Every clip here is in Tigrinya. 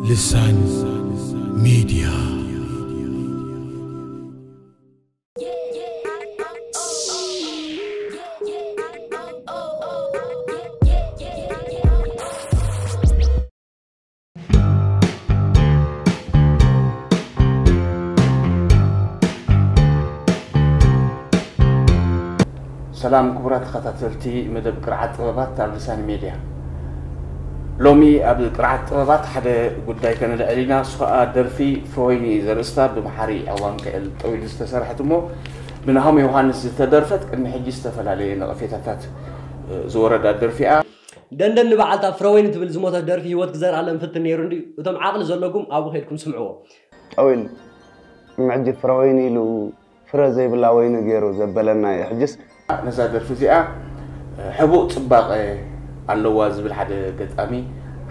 ልሳን ሚድያ። ሰላም ክቡራት ተኸታተልቲ መደብ ቅርዓት ጥበባት ኣብ ልሳን ሜድያ። ሎሚ ኣብ ቅርዓት ጥበባት ሓደ ጉዳይ ከነልዕል ኢና። እሱ ኸኣ ደርፊ ፍረወይኒ ዘርእስታ ብመሓሪ ዕዋን ክእል ጠዊሉ ዝተሰርሐት እሞ ብናሆም ዮሃንስ ዝተደርፈት ቅድሚ ሕጂ ዝተፈላለየ ነቐፌታታት ዝወረዳ ደርፊ እያ። ደንደን ንበዓልታ ፍረወይኒ ትብል ዝሞተት ደርፊ ህይወት ክዘርኣለን ፍትን ነይሩ እንድዩ። እቶም ዓቕሊ ዘለኩም ኣብኡ ከይድኩም ስምዕዎ። ጠዊል ምዕጂ ፍረወይኒ ኢሉ ፍረ ዘይብላ ወይኒ ገይሩ ዘበለና እዩ። ሕጅስ ነዛ ደርፊ እዚኣ ሕቡእ ጽባቐ ኣለዋ ዝብል ሓደ ገጣሚ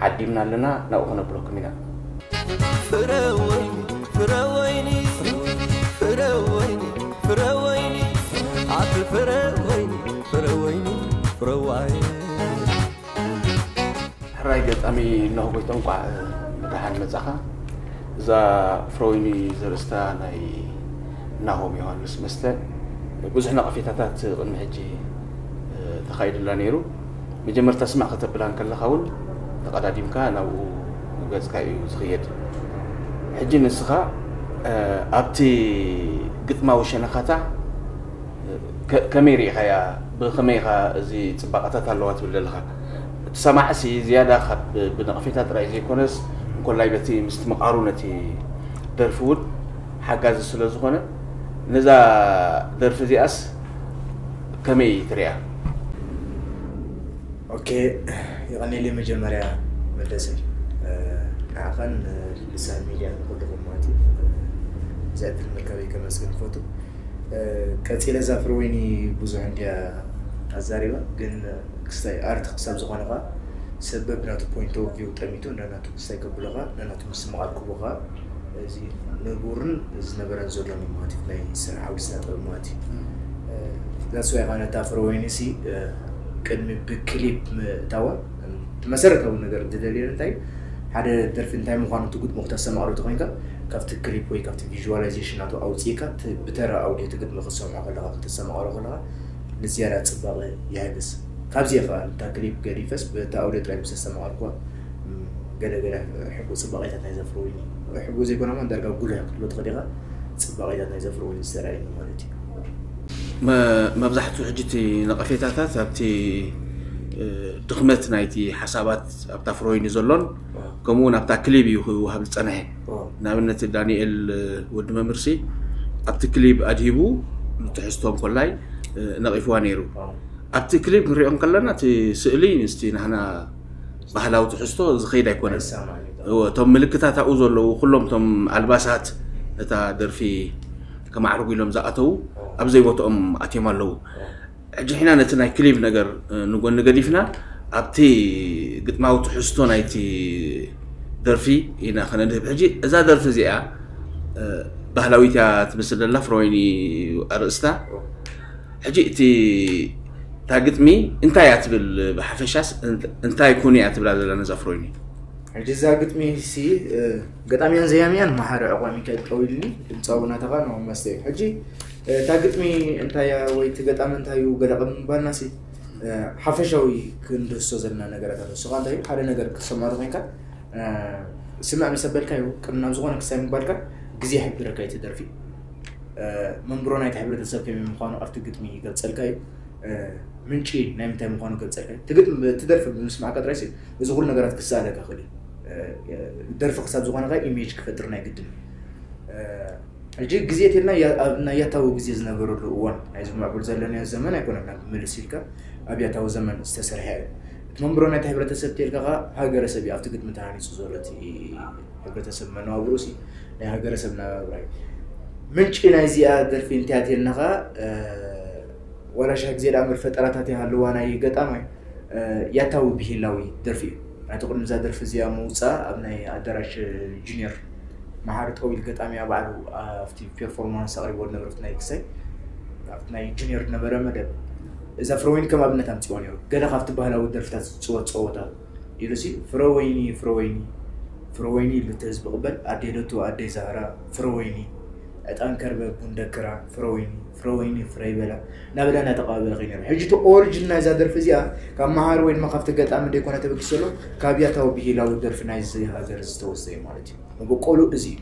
ዓዲምና ኣለና፣ ናብኡ ክነብለኩም ኢና። ፍረ ወይኒ ፍረ ወይኒ ፍረ ወይኒ ፍረ ወይኒ ኣቲ ፍረ ወይኒ ፍረ ወይኒ ፍረ ዋይ ሕራይ ገጣሚ እነሆ ጎይታ፣ እንቋዕ ብደሓን መጻኻ። እዛ ፍረወይኒ ዘርእስታ ናይ ናሆም ዮሃንስ መስተ ብዙሕ ነቐፌታታት ቅድሚ ሕጂ ተኻይዱላ ነይሩ። መጀመርታ ስማዕ ከተብላ እንከለኻ እውን ተቐዳዲምካ ናብኡ ገጽካ እዩ ዝኽየድ። ሕጂ ንስኻ ኣብቲ ግጥማዊ ሸነኻታ ከመይ ርኢኻያ? ብኸመይ ኢኻ እዚ ጽባቐታት ኣለዋ ትብል ዘለኻ? እቲ ሰማዕሲ ዝያዳ ካብ ብነቕፌታ ጥራይ ዘይኮነስ እንኮላይ በቲ ምስትምቓሩ ነቲ ደርፊ እውን ሓጋዚ ስለ ዝኾነ ነዛ ደርፊ እዚኣስ ከመይ ትሪኣ? ኦኬ፣ የቐኔለይ መጀመርያ መለሰይ ንዓኻን ልሳን ሚድያ ንኩልኹም ማለት እዩ። እዚ ዕድል ምርካበይ ከመስግን ይፈቱ። ቀጺለ እዛ ፍረወይኒ ብዙሕ እንድያ ኣዛሪባ፣ ግን ክስታይ ኣርት ክሳብ ዝኾነ ኸዓ ሰብ በብናቱ point of view ጠሚቱ ነናቱ ክስታይ ከብሎ ኸዓ ነናቱ ምስምቓር ክህቦ ኸዓ እዚ ንቡርን ዝነበረን ዘሎን እዩ ማለት እዩ ናይ ስራሕ ዓውዲ ስነ ጥበብ ማለት እዩ። That's why ኸዓ ነታ ፍረወይኒ ሲ ቅድሚ ብክሊፕ ምእታዋ እቲ መሰረታዊ ነገር ዝደልየን እንታይ ሓደ ደርፊ እንታይ ምዃኑ እቲ ግጥሙ ክተስተማቕሮ ተኾይንካ ካብቲ ክሊፕ ወይ ካብቲ visualization ናቱ ኣውፅእካ ብተራ ኣውዲዮ እቲ ግጥሚ ክትሰምዖ ከለኻ ክተስተማቕሮ ከለኻ ንዝያዳ ፅባቐ ይሕግዝ። ካብዚ ከዓ እታ ክሊፕ ገዲፈስ በቲ ኣውዲዮ ጥራይ ምስ ኣስተማቐርኩዋ ገለ ገለ ሕቡእ ፅባቐታት ናይ ዘፍርወኒ ሕቡእ ዘይኮነ እውን ዳርጋ ጉልሕ ክትብሎ ትኽእል ኢኻ። ፅባቐታት ናይ ዘፍርወኒ ዝተረኣየኒ ማለት እዩ። መብዛሕትኡ ሕጂ እቲ ነቐፌታታት ኣብቲ ድኽመት ናይቲ ሓሳባት ኣብታ ፍሮይኒ ዘሎን ከምኡ እውን ኣብታ ክሊብ እዩ ክወሃብ ዝፀንሐ። ንኣብነት ዳንኤል ወዲ መምህርሲ ኣብቲ ክሊብ ኣድሂቡ ንትሕዝቶ እንኮላይ ነቒፍዋ ነይሩ። ኣብቲ ክሊብ ክንሪኦ እንከለና እቲ ስእሊ ምስቲ ናህና ባህላዊ ትሕዝቶ ዝኸይድ ኣይኮነን። እቶም ምልክታት ኣብኡ ዘለዉ ኩሎም እቶም ኣልባሳት ነታ ደርፊ ከማዕርጉ ኢሎም ዝኣተዉ ኣብ ዘይቦትኦም ኣትዮም ኣለዉ። ሕጂ ሕና ነቲ ናይ ክሊብ ነገር ንጎኒ ገዲፍና ኣብቲ ግጥማዊ ትሕዝቶ ናይቲ ደርፊ ኢና ከነድህብ። ሕጂ እዛ ደርፊ እዚኣ ባህላዊት እያ ትመስል ዘላ ፍሮይኒ ኣርእስታ። ሕጂ እቲ እታ ግጥሚ እንታይ እያ ትብል ብሓፈሻስ እንታይ ኩን እያ ትብላ ዘላ ነዛ ፍሮይኒ? ሕጂ እዛ ግጥሚ ሲ ገጣሚያን ዘያሚያን መሓሪ ዕቋ ሚካኤል ጠዊልኒ ድምፃዊ ናተኻ ነው መስተ እዩ። ሕጂ እታ ግጥሚ እንታይ እያ ወይ እቲ ገጣሚ እንታይ እዩ ገለ ቅድሚ ምባልና ሲ ሓፈሻዊ ክንድህሶ ዘለና ነገራት ኣሎ። ንስኻ እንታይ እዩ ሓደ ነገር ክትሰምዖ ተኮይንካ ስምዕ ምስ ኣበልካዮ ቅድሚ ናብ ዝኾነ ክሳይ ምባልካ ግዜ ይሕብረካ እዩ እቲ ደርፊ። መንብሮ ናይቲ ሕብረተሰብ ከመይ ምዃኑ ኣብቲ ግጥሚ ይገልጸልካ እዩ። ምንጪ ናይ ምንታይ ምዃኑ ይገልጸልካ እዩ። እቲ ግጥሚ እቲ ደርፊ ብምስማዕካ ጥራይ እዚ ኩሉ ነገራት ክሰኣለካ ይኽእል እዩ። ደርፊ ክሳብ ዝኾነ ከ ኢሜጅ ክፈጥር ናይ ግድን እዩ። ሕጂ ግዜ እትልና ኣብ ናይ ያታዊ ግዜ ዝነበረሉ እዋን ናይዚ ምዕቡል ዘለናዮ ዘመን ኣይኮነን ናብ ምልስ ኢልካ ኣብ ያታዊ ዘመን ዝተሰርሐ እዩ። እቲ መንብሮ ናይቲ ሕብረተሰብ ተልካ ከዓ ሃገረሰብ እዩ ኣብቲ ግጥሚ ተሃኒፁ ዘሎ እቲ ሕብረተሰብ መነባብሮ ሲ ናይ ሃገረሰብ ናብራ እዩ። ምንጪ ናይዚኣ ደርፊ እንታይ እያ ተልና ከዓ ዋላ ሽሕ ግዜ ደኣ እምበር ፈጠራታት ይሃልዋ ናይ ገጣማይ ያታዊ ብሂላዊ ደርፊ እዩ። ናይቲ ቅድሚ እዛ ደርፊ እዚኣ ምውፃእ ኣብ ናይ ኣዳራሽ ጁኒየር መሓሪ ጠዊል ገጣሚያ ባዕሉ ኣብቲ ፔርፎርማንስ ኣቕሪቦ ዝነበረ ናይ ክሳይ ኣብቲ ናይ ጁኒየር ዝነበረ መደብ እዛ ፍረወይኒ ከም ኣብነት ኣምፅዋ ነይሩ። ገለ ካብቲ ባህላዊ ደርፍታት ዝፅወት ፀወታ ኢሉ ሲ ፍረወይኒ ፍረወይኒ ፍረወይኒ ኢሉ እቲ ህዝቢ ቅበል ኣደይ ለቱ ኣደይ ዛህራ ፍረወይኒ ዕጣን ከርበ ቡን ደክራ ፍረወይኒ ፍረወይኒ ፍረይ በላ እናበለ እናተቀባበለ ከይነሩ። ሕጂ እቲ ኦሪጅን ናይዛ ደርፊ እዚኣ ካብ መሃሪ ወይ ድማ ካብቲ ገጣሚ ደይኮነ ተበጊሱ ዘሎ ካብ ያታዊ ብሂላዊ ደርፊ ናይዚ ሃገር ዝተወሰደ ማለት እዩ። መበቆሉ እዚ እዩ።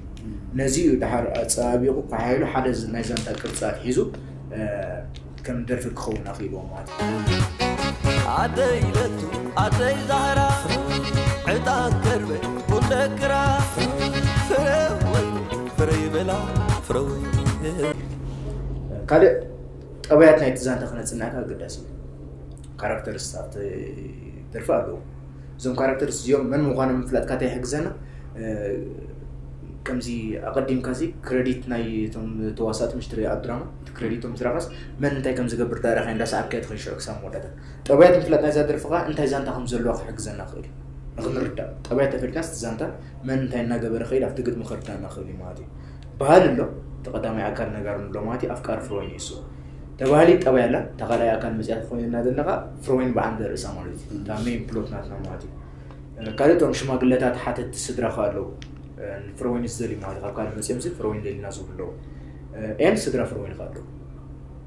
ነዚ እዩ ደሓር ኣጸባቢቑ ከሓይሉ ሓደ ዝ- ናይ ዛንታ ቅርጺ ኣትሒዙ ከም ደርፊ ክኸውን ኣኽኢልዎ ማለት እዩ። ኣደይ ለቱ ኣደይ ዛህራ ዕጣን ከርበ ቡንደክራ ፍረ ወይኒ ፍረ ይበላ ፍረ ወይኒ ካልእ ጠባያት ናይቲ ዛንታ ክነጽናዕካ ኣገዳሲ እዩ። ካራክተርስ ኣብቲ ደርፊ ኣለዉ። እዞም ካራክተርስ እዚኦም መን ምዃኖም ምፍላጥካ እንታይ ይሕግዘና? ከምዚ ኣቐዲምካ ዚ ክረዲት ናይ እቶም ተዋሳእቲ ምሽ ትርኢ ኣብ ድራማ እቲ ክረዲት ቶም ምስራኻስ መን እንታይ ከም ዝገብር ዳረኻ እንዳሰዓብካ ትኸይድ ሽዑ ክሳብ መወዳእታ። ጠባያት ምፍላጥ ናይዛ ደርፊ ከዓ እንታይ ዛንታ ከም ዘለዋ ክሕግዘና ክእል እዩ። ንክንርዳእ ጠባያት ተፈሊጥናስ እቲ ዛንታ መን እንታይ እናገበረ ከይድ ኣብቲ ግጥሚ ከርዳና ክእል እዩ ማለት እዩ። ባህል ኣሎ እቲ ቀዳማይ ኣካል ነጋር ንብሎ ማለት እዩ። ኣፍቃሪ ፍሮይን እዩ እሱ ተባህሊ ጠባይ ኣላ እታ ካልኣይ ኣካል መፅያ ኮይንና ዘለና ከዓ ፍሮይን በዓል ርእሳ ማለት እዩ። እታ ሜን ፕሎት ናትና ማለት እዩ። ካልእ እቶም ሽማግለታት ሓተቲ ስድራ ከ ኣለዉ ፍረወይኒ ዝደልዩ ማለት ካብ ካልእ መፅኦም ሲ ፍረወይኒ ደሊና ዝብሉ ኣለዉ ኤን ስድራ ፍረወይኒ ከ ኣለዉ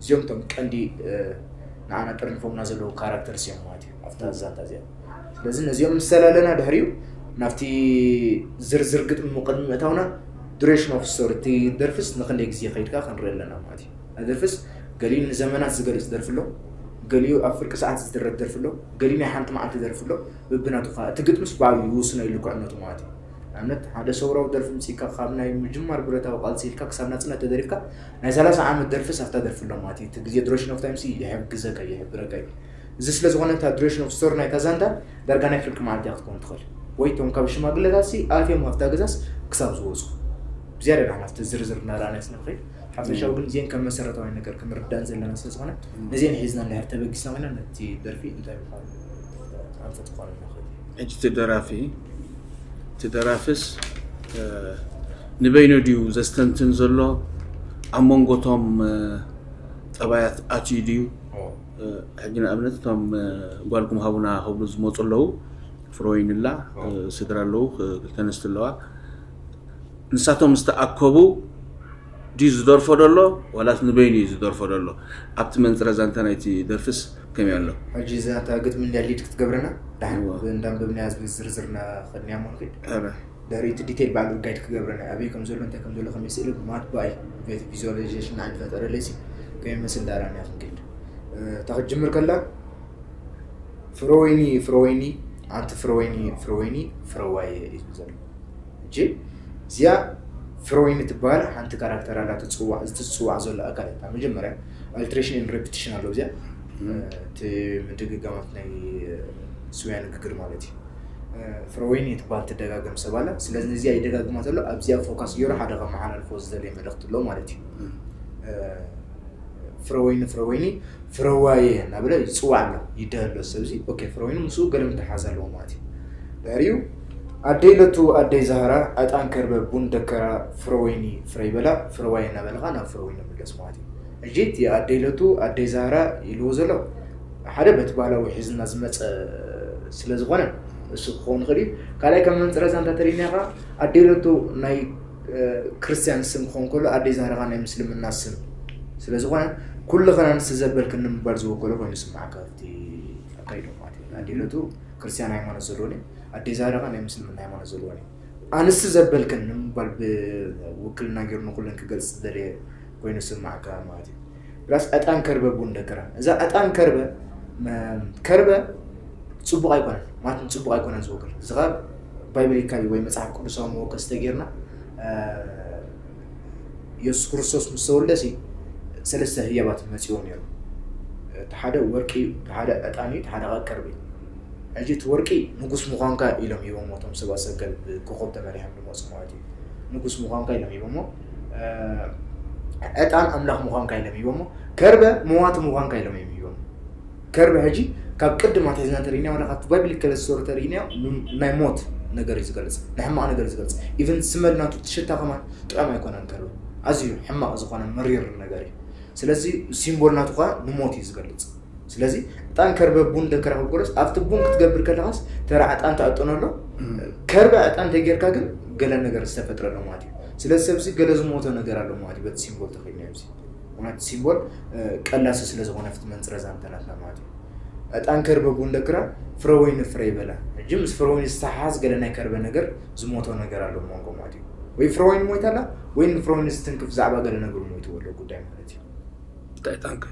እዚኦም እቶም ቀንዲ ንዓና ጠርኒፎምና ዘለዉ ካራክተርስ እዮም ማለት እዩ ኣብታ ዛንታ እዚኣ ስለዚ ነዚኦም ምስ ሰላለና ድሕሪኡ ናብቲ ዝርዝር ግጥሚ ቅድሚ ምእታውና duration of story እቲ ደርፍስ ንክንደይ ግዜ ከይድካ ክንርኢ ኣለና ማለት እዩ ደርፍስ ገሊኡ ንዘመናት ዝገልፅ ደርፊ ኣሎ ገሊኡ ኣብ ፍርቂ ሰዓት ዝድረፍ ደርፊ ኣሎ ገሊኡ ናይ ሓንቲ መዓልቲ ደርፊ ኣሎ በብናቱ ከዓ እቲ ግጥምስ ባዕሉ ይውስኖ ኢሉ ክዕነቱ ማለት እዩ ንኣብነት ሓደ ሰውራዊ ደርፊ ምፅኢካ ካብ ናይ ምጅማር ብረታዊ ቃልሲ ኢልካ ክሳብ ናፅነት ተደሪፍካ ናይ ሰላሳ ዓመት ደርፊስ ኣብታ ደርፊ ኣሎ ማለት እዩ እቲ ግዜ duration of time ሲ ይሕግዘካ ይሕብረካ እዩ እዚ ስለ ዝኾነ እታ duration of story ናይታ ዛንታ ዳርጋ ናይ ፍርቂ መዓልቲ እያ ክትከውን ትኽእል ወይ እቶም ካብ ሽማግለታት ሲ ኣትዮም ኣብታ ገዛስ ክሳብ ዝወፁ ብዝያዳ ዳሕና ኣብቲ ዝርዝር እናረኣና ስለ ንኽእል ሓፈሻዊ ግን እዚአን ከም መሰረታዊ ነገር ክንርዳእን ዘለና ስለ ዝኾነ ነዚአን ሒዝና እንድሕር ተበጊስና ኮይና ነቲ ደርፊ እንታይ ምዃኑ ኣንፈት ክኾነ ንኽእል ሕጂ እቲ ደራፊ እቲ ደራፍስ ንበይኑ ድዩ ዘስተንትን ዘሎ ኣብ መንጎቶም ጠባያት ኣትዩ ድዩ ሕጂ ንኣብነት እቶም ጓልኩም ሃቡና ክብሉ ዝመፁ ኣለዉ ፍሮይንላ ስድራ ኣለዉ ክልተ ኣንስቲ ኣለዋ ንሳቶም ዝተኣከቡ ድዩ ዝደርፎ ደሎ ዋላስ ንበይኑ እዩ ዝደርፎ ደሎ ኣብቲ መንፅረ ዛንታ ናይቲ ደርፍስ ከመይ ኣሎ ሕጂ እዛ እታ ግጥሚ እንድያ ሊድ ክትገብረና ዳሕን እንዳንበብናያ ዝርዝርና ከድንያ እሞ ንክድ ዳሪት ዲቴል ባዕሉ ጋይድ ክገብረና ኣበይ ከም ዘሎ እንታይ ከም ዘሎ ከመይ ስእሊ ማት ባይ ቤት ቪዙዋላይዜሽን ንዓዲ ፈጠረለይሲ ከመይ መስል ዳራና ክንክድ እታ ክትጅምር ከላ ፍረወይኒ ፍረወይኒ ኣንቲ ፍረወይኒ ፍረወይኒ ፍረዋየ እዩ ዝብል ዘሎ ሕጂ እዚኣ ፍረወይኒ ትበሃል ሓንቲ ካራክተር ኣላ ትፅዋዕ እዚ ትፅዋዕ ዘሎ ኣካል እታ መጀመርያ alteration and repetition ኣሎ እዚኣ እቲ ምድግጋማት ናይ ስውያ ንግግር ማለት እዩ ፍረወይኒ ትበሃል ትደጋገም ሰብ ኣላ ስለዚ ነዚኣ ይደጋግማ ዘሎ ኣብዚኣ ፎካስ ገይሩ ሓደ ከመሓላልፎ ዝደለየ መልእክቲ ኣሎ ማለት እዩ ፍረወይኒ ፍረወይኒ ፍረዋየ እናበለ ይፅዋዕ ኣሎ ይደህ ኣሎ ሰብዚ ኦኬ ፍረወይኒ ምስኡ ገለ ምትሓዝ ኣለዎ ማለት እዩ ድሕሪኡ ኣደይ ለቱ ኣደይ ዛህራ ዕጣን ከርበ ቡን ደከራ ፍረወይኒ ፍረይ በላ ፍረዋየ እናበልካ ናብ ፍረወይኒ ምለስ ማለት እዩ ሕጂ እቲ ኣደይ ለቱ ኣደይ ዛህራ ኢልዎ ዘሎ ሓደ በቲ ባህላዊ ሒዝና ዝመፀ ስለ ዝኾነ እሱ ክኸውን ይኽእል እዩ ካልኣይ ከም መንፅረ ዛንታ ተሪእናኻ ኣደይ ለቱ ናይ ክርስትያን ስም ክኸውን ከሎ ኣደይ ዛህራ ኸዓ ናይ ምስልምና ስም ስለ ዝኾነ ኩሉ ኸና ንስ ዘበልክኒ ንምባል ዝወከሎ ኮይኑ ስምዓካ ኣብቲ ኣካይዶ ማለት እዩ ኣደይ ለቱ ክርስትያን ሃይማኖት ዘለዎን ኣደይ ዛህራ ኸዓ ናይ ምስልምና ሃይማኖት ዘለዎን ኣንስ ዘበልክን ንምባል ብውክልና ገይሩ ንኩለን ክገልፅ ዝደለየ ኮይኑ ስምዓካ ማለት እዩ ፕላስ ዕጣን ከርበ ቡን ደክራ እዛ ዕጣን ከርበ ከርበ ፅቡቅ ኣይኮነን ማለት ፅቡቅ ኣይኮነን ዝወክል እዚ ከዓ ባይብሊካሊ ወይ መፅሓፍ ቅዱሳዊ መወከስ ተጌርና የሱስ ክርስቶስ ምስ ተወልደ ሲ ሰለስተ ህያባት መፅዎ ነይሩ እቲ ሓደ ወርቂ እዩ እቲ ሓደ ዕጣን እዩ እቲ ሓደ ከዓ ከርቢ እዩ ሕጂ እቲ ወርቂ ንጉስ ምዃንካ ኢሎም ሂቦሞ እቶም ሰብኣ ሰገል ብኮኾብ ተመሪሖም ዝመፁ ማለት እዩ ንጉስ ምዃንካ ኢሎም ሂቦሞ ዕጣን ኣምላኽ ምዃንካ ኢሎም ሂቦሞ ከርበ መዋቲ ምዃንካ ኢሎም እዮም ሂቦሞ ከርበ ሕጂ ካብ ቅድም ኣትሒዝና እንተሪእናዮ ዋላ ካብቲ ባይብሊካል ስቶሪ ተሪእናዮ ናይ ሞት ነገር እዩ ዝገልፅ ናይ ሕማቕ ነገር እዩ ዝገልፅ ኢቨን ስመል ናቱ ትሽታ ከማን ጥዑም ኣይኮነን ከርበ ኣዝዩ ሕማቕ ዝኾነ መሪር ነገር እዩ ስለዚ ሲምቦል ናቱ ከዓ ንሞት እዩ ዝገልፅ ስለዚ ዕጣን ከርበ ቡን ደከራ ክብሎስ ኣብቲ ቡን ክትገብር ከለኻስ ተራ ዕጣን ተዕጥኖ ኣሎ። ከርበ ዕጣን ተጌርካ ግን ገለ ነገር ዝተፈጥረ ኣሎ ማለት እዩ። ስለዚ ሰብዚ ገለ ዝሞተ ነገር ኣሎ ማለት እዩ። በቲ ሲምቦል ተኸይድና ኣብዚ ምክንያቱ ሲምቦል ቀላሲ ስለ ዝኾነ ፍቲ መንፅረ ዛንተናትና ማለት እዩ። ዕጣን ከርበ ቡን ደክራ ፍረ ወይኒ ፍረ ይበላ። ሕጂ ምስ ፍረ ወይኒ ዝተሓሓዝ ገለ ናይ ከርበ ነገር ዝሞቶ ነገር ኣሎ መንጎ ማለት እዩ። ወይ ፍረ ወይኒ ሞይታ ኣላ ወይ ንፍረ ወይኒ ዝትንክፍ ዛዕባ ገለ ነገሩ ሞይትዎ ኣሎ ጉዳይ ማለት እዩ። እንታይ ዕጣንከ?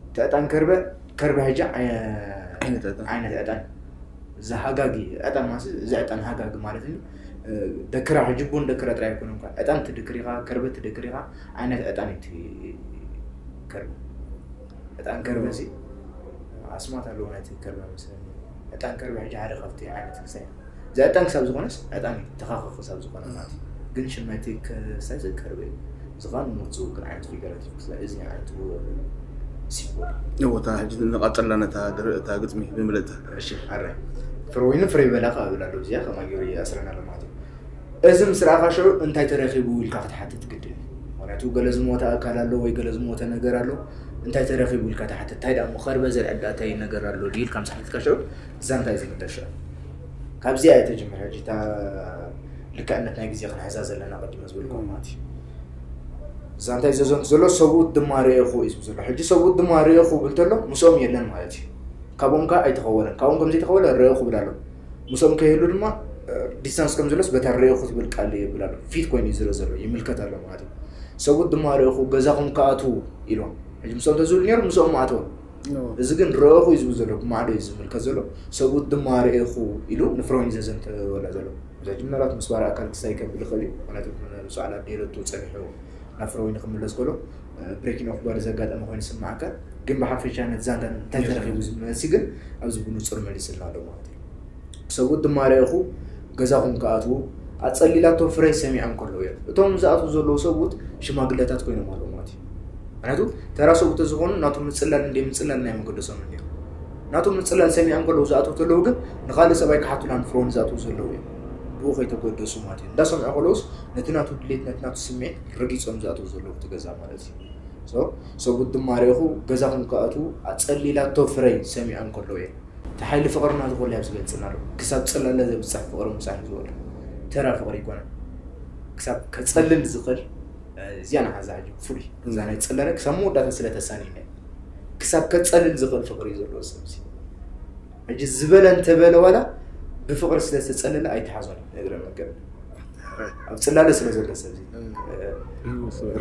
እቲ ዕጣን ከርበ ከርበ ሕጂ ዓይነት ዕጣን። ዓይነት ዕጣን እዚ ሃጋጊ ዕጣን ማለት እዚ ዕጣን ሃጋጊ ማለት እዩ። ደክራ ሕጂ ቡን ደክራ ጥራይ ኣይኮነን እኳ ዕጣን ትድክር ኢኻ፣ ከርበ ትድክር ኢኻ። ዓይነት ዕጣን እዩ እቲ ከርበ። ዕጣን ከርበ ሲ ኣስማት ኣለዎ ናይቲ ከርበ መስለኒ። ዕጣን ከርበ ሕጂ ሓደ ካብቲ ዓይነት ክሳይ እዚ ዕጣን ክሳብ ዝኾነስ ዕጣን እዩ ተኻኸ ክሳብ ዝኾነ ማለት እዩ። ግን ሽመቲ ክሳይ ከርበ እዩ። ዝኻን ሞት ዝውክል ዓይነት ፊገራቲቭ ክሳይ እዚ ዓይነት ሲምቦል እወታ ሕጂ ንቐጽላ ነታ ድር- እታ ግጥሚ ብምልእታ እሺ ኣረ ፍረ ወይኒ ፍረ ይበላ ካብ እብል ኣለዉ እዚኣ ከማ ገይሩ ይኣስረና ኣሎ ማለት እዩ። እዚ ምስ ረኣኻ ሽዑ እንታይ ተረኺቡ ኢልካ ክትሓትት ግድን እዩ። ምክንያቱ ገለ ዝሞተ ኣካል ኣሎ ወይ ገለ ዝሞተ ነገር ኣሎ። እንታይ ተረኺቡ ኢልካ ትሓትት እንታይ ደኣ ከርበ ዘልዕዳ እንታይ ነገር ኣሎ ድዩ ኢልካ ምስ ሓተትካ ሽዑ ዛንታ እዩ ዝምለስ ሽዑ። ካብዚኣ እየ ተጀምር ሕጂ እታ ልክዕነት ናይ ግዜ ክንሕዛ ዘለና ቀዲመ ዝበልኩም ማለት እዩ። ዛንታ እዩ ዘዘንቱ ዘሎ ሰብኡት ድማ ርኤኹ እዩ ዝብል ዘሎ። ሕጂ ሰብኡት ድማ ርኤኹ ብል ተሎ ምስኦም የለን ማለት እዩ። ካብኦም ከዓ ኣይተኸወለን። ካብኦም ከም ዘይተኸወለ ርኤኹ ብል ኣሎ። ምስኦም ከይህሉ ድማ ዲስታንስ ከም ዘሎስ በታ ርኤኹ ትብል ቃል የብል ኣሎ። ፊት ኮይኑ እዩ ዝርእ ዘሎ ይምልከት ኣሎ ማለት እዩ። ሰብኡት ድማ ርኤኹ ገዛኹም ክኣትዉ ኢልዎም። ሕጂ ምስኦም ተዝብል ነይሩ ምስኦም ምኣተወ። እዚ ግን ርኤኹ እዩ ዝብል ዘሎ ብማዕዶ እዩ ዝምልከት ዘሎ። ሰብኡት ድማ ርኤኹ ኢሉ ንፍረወይኒ ዘዘንተወላ ዘሎ። እዚ ምናልባት ምስ ባር ኣካል ክስታይ ከብል ይኽእል እዩ። ምክንያቱ ምስ በዓል ኣዴ ረቱ ጸኒሑ ናብ ፍረወይኒ ክምለስ ከሎ ብሬኪን ኦፍ ባር ዘጋጠመ ኮይኑ ስምዓካ። ግን ብሓፈሻ ነቲ ዛንታ እንታይ ተረኺቡ ዝብል መልሲ ግን ኣብዚ ብንጹር መሊስልና ኣሎ ማለት እዩ። ሰብኡት ድማ ርኤኹ ገዛኹም ክኣትዉ ኣጸሊላቶ ፍረ ሰሚዖም ከለዉ እዮም። እቶም ዝኣትዉ ዘለዉ ሰብኡት ሽማግለታት ኮይኖም ኣለዉ ማለት እዩ። ምክንያቱ ተራ ሰብኡት ተዝኾኑ ናቱ ምጽላል እንደ ምጽላል ናይ መገደሶም ነይሩ። ናቱ ምጽላል ሰሚዖም ከለዉ ዝኣትዉ ተለዉ ግን ንኻልእ ሰብኣይ ክሓቱላ ንፍረውን ዝኣትዉ ዘለዉ እዮም። ብኡ ከይተገደሱ ማለት እዩ። እንዳሰምዑ ከለዉስ ነቲ ናቱ ድሌት ነቲ ናቱ ስምዒት ረጊጾም ዝኣትዉ ዘለዉ እቲ ገዛ ማለት እዩ። So ሰብኡት ድማ ርኤኹ ገዛኹም ክኣትዉ ኣጸሊላቶ ፍረይ ሰሚዖም ከለዉ እዮም። እቲ ሓይሊ ፍቕሪ ናቱ ከሉ ኣብ ዝገልጽና ኣሎ። ክሳብ ጽላለ ዘብጽሕ ፍቕሪ ምሳሕ ዝበሉ ተራ ፍቕሪ ይኮነ። ክሳብ ከጸልል ዝኽእል እዚኣ ንሓዛ ሕጂ ፍሉይ እዛ ናይ ጽላለ ክሳብ መወዳእታ ስለ ተሳኒነ ክሳብ ከጸልል ዝኽእል ፍቕሪ እዩ ዘለዎ ሰብ እዚ። ሕጂ ዝበለ እንተበለ ዋላ ብፍቕሪ ስለ ዝተጸለለ ኣይተሓዞን እዩ እግረ መንገድ ኣብ ጽላለ ስለ ዘሎ ሰብ እዚ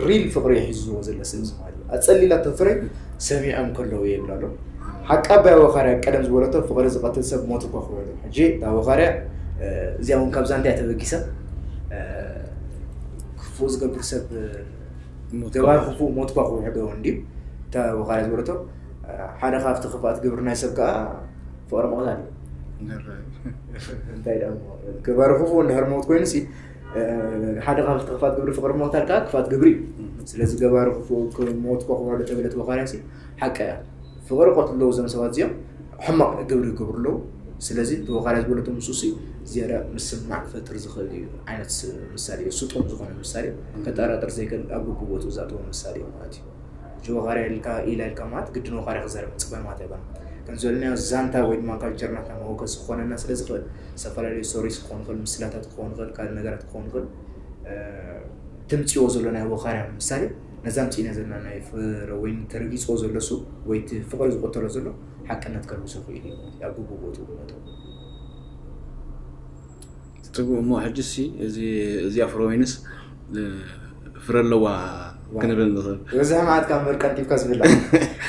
ሪል ፍቕሪ ሒዝዎ ዘሎ ሰብ እዚ ማለት እዩ። ኣጸሊላቶ ፍረይ ሰሚዖም ከለዉ እየ ይብላ ኣሎ። ሓቂ ኣባይ ወኻርያ ቀደም ዝበለቶ ፍቕሪ ዝቐትል ሰብ ሞት እኳ ክውዕሎ። ሕጂ እታ ወኻርያ እዚኣ እውን ካብዛ እንታይ ተበጊሳ ክፉእ ዝገብር ሰብ ገባር ክፉእ ሞት እኳ ክውሕዶ እንድዩ። እታ ወኻርያ ዝበለቶ ሓደ ካብቲ ክፍኣት ግብሪ ናይ ሰብ ከዓ ፍቕሪ ምቕታል እዩ። እንታይ ደሞ ገባር ክፉእ እንድሕር ሞት ኮይኑ ሲ ሓደ ካብ ክፋት ግብሪ ፍቕሪ ምቕታል ከዓ ክፋት ግብሪ እዩ። ስለዚ ገባሪ ክፉእ ሞት እኳ ክውዕሎ ተበለት ወኻርያ ሲ ሓቂ እያ። ፍቕሪ ቀትሉ ኣለዉ እዞም ሰባት እዚኦም ሕማቕ ግብሪ ይገብሩ ኣለዉ። ስለዚ እቲ ወኻርያ ዝበለቶ ምስኡ ሲ ዝያዳ ምስምማዕ ክፈጥር ዝኽእል እዩ ዓይነት ምሳሌ እዩ። ስጡም ዝኾነ ምሳሌ ከጠራጥር ዘይክእል ኣብ ግቡእ ቦትኡ ዝኣተወ ምሳሌ እዩ ማለት እዩ። ሕጂ ወኻርያ ኢልካ ኢላ ኢልካ ማለት ግድን ወኻርያ ክዛረብ ምፅበን ማለት ኣይኮነን። ከም ዝበልናዮ ዛንታ ወይ ድማ ካልቸር ናትና መወከሲ ክኾነና ስለ ዝኽእል ዝተፈላለዩ ስቶሪስ ክኾን ይኽእል፣ ምስላታት ክኾን ይኽእል፣ ካልእ ነገራት ክኾን ይኽእል። ትምፅዎ ዘሎ ናይ ወኻርያ ምሳሌ ነዛ ምፅኢና ዘለና ናይ ፍረ ወይ ተረጊፅዎ ዘሎ ሱ ወይ እቲ ፍቕሪ ዝቆተሎ ዘሎ ሓቅነት ከልብሶ ክእል እዩ ማለት እዩ። ኣብ ግቡእ ቦትኡ ክመጠው ጽቡቅ እሞ ሕጂ ሲ እዚ እዚኣ ፍረ ወይንስ ፍረ ኣለዋ ክንብል ንኽእል። ዝበዝሐ መዓት ካብ መርቀንቲፍካ ዝብላ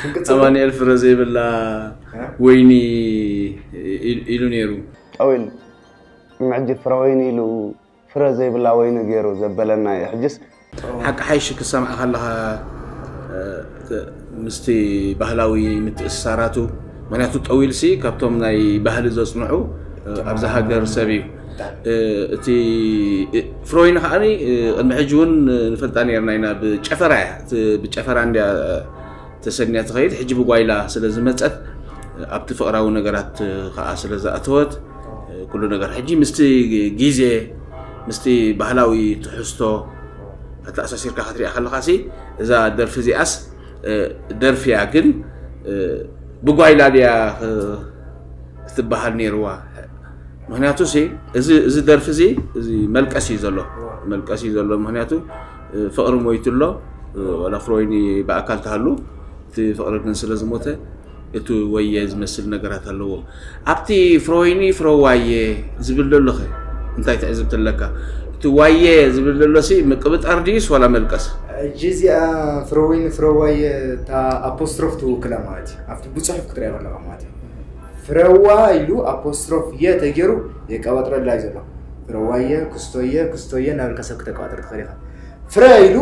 ክንቅጽል ኣማኑኤል ፍረ ዘይብላ ወይኒ ኢሉ ነይሩ። ጠዊል ምዕጂ ፍረ ወይኒ ኢሉ ፍረ ዘይብላ ወይኒ ገይሩ ዘበለና እዩ። ሕጅስ ሓቂ ሓይሽ ክሰምዓ ከለኻ ምስቲ ባህላዊ ምትእስሳራቱ ምክንያቱ ጠዊልሲ ካብቶም ናይ ባህሊ ዘፅንዑ ኣብዛ ሃገር ሰብ እዩ። እቲ ፍሮይን ከዓኒ ቅድሚ ሕጂ እውን ንፈልጣ ነርና ኢና። ብጨፈራ እያ ብጨፈራ እንድያ ተሰንያ ትኸይድ። ሕጂ ብጓይላ ስለ ዝመፀት ኣብቲ ፍቕራዊ ነገራት ከዓ ስለ ዝኣተወት ኩሉ ነገር ሕጂ ምስቲ ግዜ ምስቲ ባህላዊ ትሕዝቶ ኣተኣሳሲርካ ክትሪኣ ከለኻ ሲ እዛ ደርፊ እዚኣስ ደርፊ እያ ግን ብጓይላ ድያ ክትበሃል ነይርዋ። ምክንያቱ ሲ እዚ እዚ ደርፊ እዚ እዚ መልቀስ እዩ ዘሎ፣ መልቀስ እዩ ዘሎ። ምክንያቱ ፍቕሪ ሞይቱ ኣሎ። ዋላ ፍሮይኒ ብኣካል ተሃሉ፣ እቲ ፍቕሪ ግን ስለ ዝሞተ እቲ ወየ ዝመስል ነገራት ኣለዎ። ኣብቲ ፍሮይኒ ፍረዋየ ዝብል ዘሎ ኸ እንታይ ትዕዝብቲ ኣለካ? እቲ ዋየ ዝብል ዘሎ ሲ ምቅብጣር ድዩስ ዋላ መልቀስ? ሕጂ እዚኣ ፍረወይኒ ፍረዋየ እታ ኣፖስትሮፍ ትውክላ ማለት እዩ። ኣብቲ ብፅሑፍ ክትሪኣ ከለካ ማለት እዩ። ፍረዋ ኢሉ ኣፖስትሮፍ የ ተገይሩ የቀባጥረላ እዩ ዘሎ። ፍረዋየ ክስቶየ ክስቶየ እናበልካ ሰብ ክተቀባጥር ትኽእል ኢኻ። ፍረ ኢሉ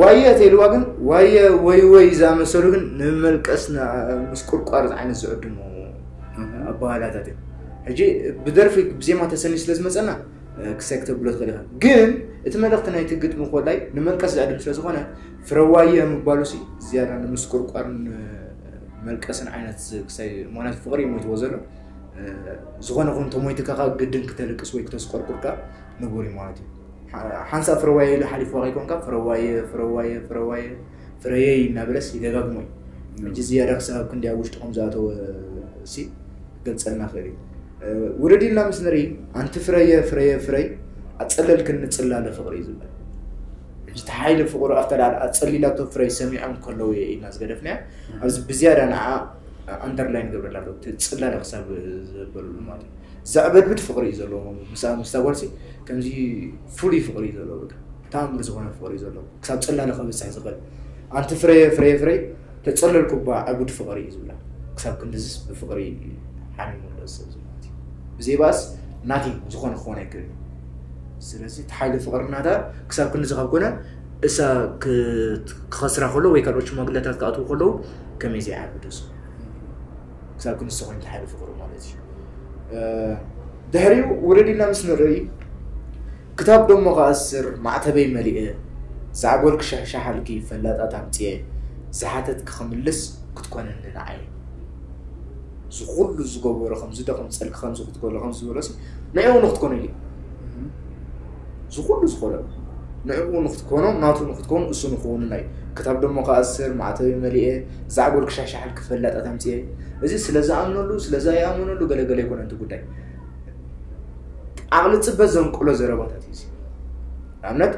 ዋየ ተይልዋ ግን ዋየ ወይ ወይ ዝኣመሰሉ ግን ንመልቀስ ምስ ቁርቋር ዓይነት ዝዕድሙ ኣባህላታት እዮም። ሕጂ ብደርፊ ብዜማ ተሰንዩ ስለ ዝመፀና ክሳይ ክተብሎ ትኽእል ኢኻ። ግን እቲ መልእኽቲ ናይቲ ግጥሚ ኮላይ ንመልቀስ ዝዕድም ስለ ዝኾነ ፍረዋየ ምባሉ ሲ ዝያዳ ንምስቁርቋርን መልቀስን ዓይነት ክሳይ ማለት ፍቕሪ እዩ ሞይትዎ ዘሎ። ዝኾነ ኹን ተሞይትካ ከዓ ግድን ክተልቅስ ወይ ክተስቆርቁርካ ንቡር እዩ ማለት እዩ። ሓንሳብ ፍረዋየ ኢሉ ሓሊፍዋ ከይኮንካ ፍረዋየ ፍረዋየ ፍረዋየ ፍረየይ እናበለስ ይደጋግሞ እዩ። ሕጂ ዝያዳ ክሳብ ክንዲ ኣብ ውሽጡ ከም ዝኣተወ ሲ ክገልፀልና ክእል እዩ። ውርድ ኢልና ምስ ንርኢ ኣንቲ ፍረየ ፍረየ ፍረይ ኣፀለልክኒ ፅላለ ፍቕሪ እዩ ዝብል። ሕጂ እቲ ሓይሊ ፍቕሩ ኣብታ ላዕሊ ኣፀሊላቶ ፍረይ ሰሚዖም ከለዉ እየ ኢልና ዝገደፍናያ ኣብዚ ብዝያዳ ንዓ ኣንደርላይን ገብረላ ኣሎ እቲ ፅላለ ክሳብ ዘበሉሉ ማለት እዩ። ዘዕበድብድ ፍቕሪ እዩ ዘለዎ ምስኣ ምስታ ጓልሲ ከምዚ ፍሉይ ፍቕሪ እዩ ዘለዎ በቃ ተኣምር ዝኾነ ፍቕሪ እዩ ዘለዎ ክሳብ ፅላለ ከብፅሕ ዝኽእል ኣንቲ ፍረየ ፍረየ ፍረይ ተፀለልኩባ ዕቡድ ፍቕሪ እዩ ዝብላ ክሳብ ክንድዝስ ብፍቕሪ ሓሚሙ ኣሎ ሰብ ማለት እዩ። ብዘይባስ ናቲንግ ዝኾነ ክኾነ ኣይክእል እዩ። ስለዚ እቲ ሓይሊ ፍቕሪ ናታ ክሳብ ክንድዚ ካብ ኮነ እሳ ክኸስራ ከሎ ወይ ካልኦት ሽማግለታት ክኣትዉ ከለዉ ከመይ ዘይዓቢ ደስ ክሳብ ክንስተ ኮይኑ ተሓደ ፍቕሩ ማለት እዩ። ድሕሪኡ ውርድ ኢልና ምስ ንርኢ ክታብ ደሞ ክኣስር ማዕተበይ መሊኤ ዛዕጎል ክሻሻሓልኪ ፈላጣት ኣምፅኤ ዝሓተትኪ ክምልስ ክትኮነኒ ንዓይ ዝኩሉ ዝገበሮ ከምዚ ዶ ከምፀልኪ ከምዚ ክትገሎ ከምዚ ዝበሎሲ ንዕኡ ንክትኮኑ ኢሉ ዝኹሉ ዝኾነ ንዕኡ ንክትኮኖ ናቱ ንክትኮኑ እሱ ንክውንና እዩ። ክታብ ደሞ ክኣስር ማዕተበይ መሊኤ ዛዕጎል ክሻሻሓልኪ ፈላጣት ኣምፅኤ እዚ ስለ ዝኣምነሉ ስለ ዘይኣምነሉ ገለገለ ኣይኮነ እቲ ጉዳይ። ዓቕሊ ፅበት ዘንቅሎ ዘረባታት እዩ እዚ። ንኣብነት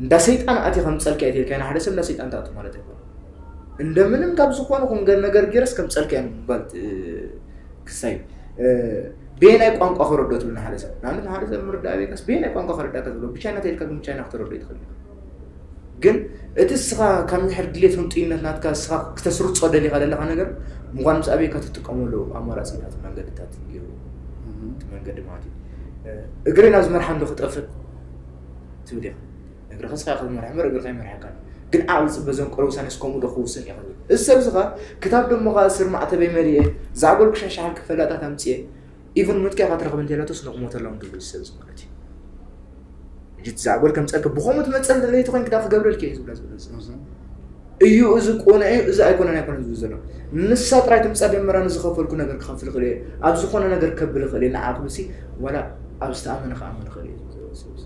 እንዳ ሰይጣን ኣትየ ከምፀልኪ እየ ተልካዮ ንሓደ ሰብ እንዳ ሰይጣን ትኣቱ ማለት ኣይኮነ። እንደምንም ካብ ዝኾነ ኹን ነገር ገይረስ ከምፀልኪ እየ ምባል ክሳይ በየናይ ቋንቋ ክረዶ ትብል ንሓደ ሰብ ንኣብነት ንሓደ ሰብ ምርዳእ ቤካስ በየናይ ቋንቋ ክረዳእካ ትብሎ ብቻይና ተልካ ግን ብቻይና ክትረዶ ይትኽእል ግን እቲ እስኻ ካብ ምሕር ድሌት ህንጡይነት ናትካ እስኻ ክተስርጾ ደሊኻ ዘለኻ ነገር ምዃኑ ምስ ኣበይካ ትጥቀመሉ ኣማራፂታት መንገድታት እዩ እቲ መንገዲ ማለት እዩ። እግሪ ናብዚ መርሓ እንዶ ክጠፍእ ትብል ኢኻ እግሪ ከስኻ ክትመርሕ እምበር እግሪ ከይመርሓካ ግን ዓቕሊ ፅበ ዘንቆረ ውሳኔስ ከምኡ ዶ ክውስን እየ ክብል እዚ ሰብ እዚ ኸ ክታብ ደሞ ኸ ስር ማዕተበይ መሊኤ ዛዕጎል ክሻሻሓል ክፈላጣት ኣምፅኤ ኢቭን ምጥቅያ ካትረኽብ እንተላቶስ ንቕሞተሎም ዝብል ሰብ እዚ ማለት እዩ። ሕጂ እቲ ዛዕጎል ከም ፀልከ ብኸምኡ ትመፀል ለይቲ ኮይን ክዳ ክገብረልክ እዩ ዝብላ ዘሎ እዚ እዩ እዚ ቁኑዕ እዩ እዚ ኣይኮነን ኣይኮነን ዝብል ዘሎ ንሳ ጥራይ ትምፃ ደመራ ንዝኸፈልኩ ነገር ክኸፍል ይኽእል እየ ኣብ ዝኾነ ነገር ከብል ይኽእል እየ ንዓ ክብልሲ ዋላ ኣብ ዝተኣመነ ክኣምን ይኽእል እየ ዝብል ዘሎ ሰብ እዚ